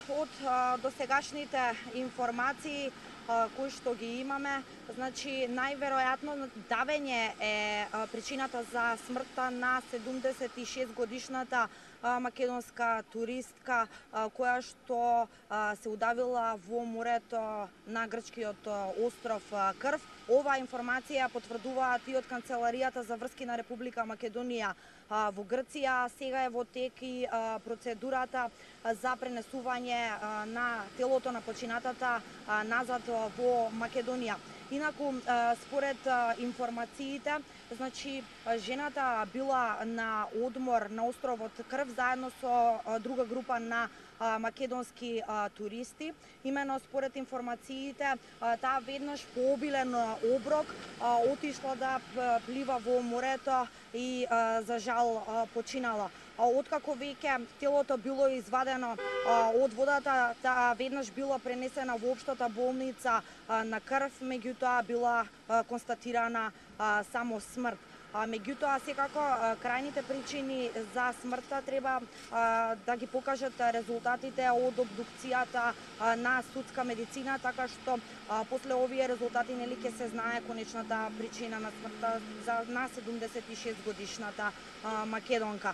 Од досегашните информации кои што ги имаме, значи најверојатно давење е причината за смртта на 76 годишната македонска туристка која што се удавила во морето на грчкиот остров Крф. Оваа информација потврдуваат и од Канцеларијата за врски на Република Македонија во Грција. Сега е во тек и процедурата за пренесување на телото на починатата назад во Македонија. Инаку, според информациите, значи жената била на одмор на островот Крф заедно со друга група на македонски туристи. Имено според информациите, таа веднаш по обилен оброк отишла да плива во морето и за жал починала. Откако веќе телото било извадено од водата, таа веднаш била пренесена во општата болница на Крф, меѓутоа била констатирана само смрт. Меѓутоа, секако, крајните причини за смртта треба да ги покажат резултатите од обдукцијата на судска медицина, така што после овие резултати ќе се знае конечната причина на смртта на 76 годишната македонка.